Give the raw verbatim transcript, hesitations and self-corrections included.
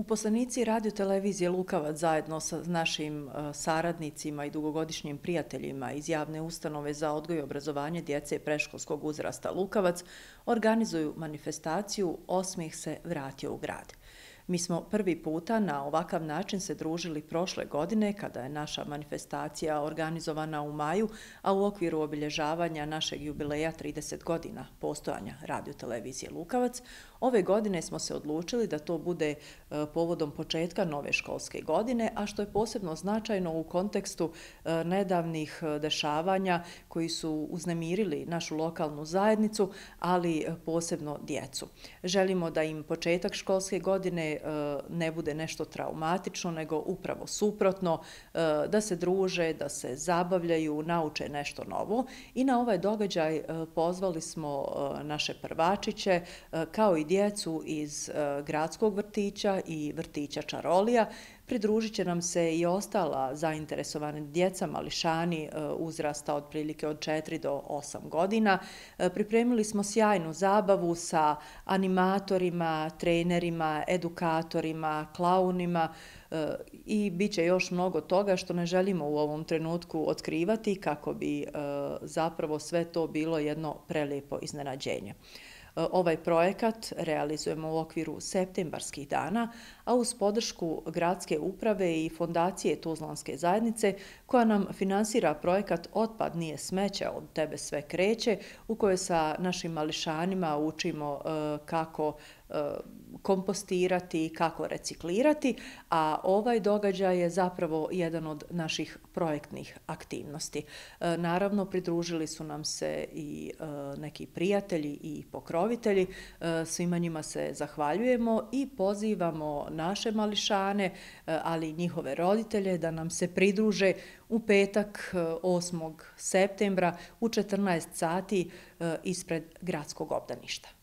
Uposlenici radiotelevizije Lukavac zajedno sa našim e, saradnicima i dugogodišnjim prijateljima iz javne ustanove za odgoj i obrazovanje djece predškolskog uzrasta Lukavac organizuju manifestaciju Osmijeh se vratio u grad. Mi smo prvi puta na ovakav način se družili prošle godine kada je naša manifestacija organizovana u maju, a u okviru obilježavanja našeg jubileja trideset godina postojanja radiotelevizije Lukavac. Ove godine smo se odlučili da to bude e, povodom početka nove školske godine, a što je posebno značajno u kontekstu e, nedavnih dešavanja koji su uznemirili našu lokalnu zajednicu, ali posebno djecu. Želimo da im početak školske godine ne bude nešto traumatično, nego upravo suprotno, da se druže, da se zabavljaju, nauče nešto novo. I na ovaj događaj pozvali smo naše prvačiće, kao i djecu iz gradskog vrtića i vrtića Čarolija. Pridružit će nam se i ostala zainteresovana djeca, mališani uzrasta otprilike od četiri do osam godina. Pripremili smo sjajnu zabavu sa animatorima, trenerima, edukatorima, klaunima i bit će još mnogo toga što ne želimo u ovom trenutku otkrivati kako bi zapravo sve to bilo jedno prelijepo iznenađenje. Ovaj projekat realizujemo u okviru septembarskih dana, a uz podršku gradske uprave i fondacije Tuzlanske zajednice, koja nam finansira projekat Otpad nije smeće, od tebe sve kreće, u kojoj sa našim mališanima učimo kako kompostirati, kako reciklirati, a ovaj događaj je zapravo jedan od naših projektnih aktivnosti. Naravno, pridružili su nam se i neki prijatelji i pokrovitelji, svima njima se zahvaljujemo i pozivamo naše mališane, ali i njihove roditelje da nam se pridruže u petak osmog septembra u četrnaest sati ispred gradskog obdaništa.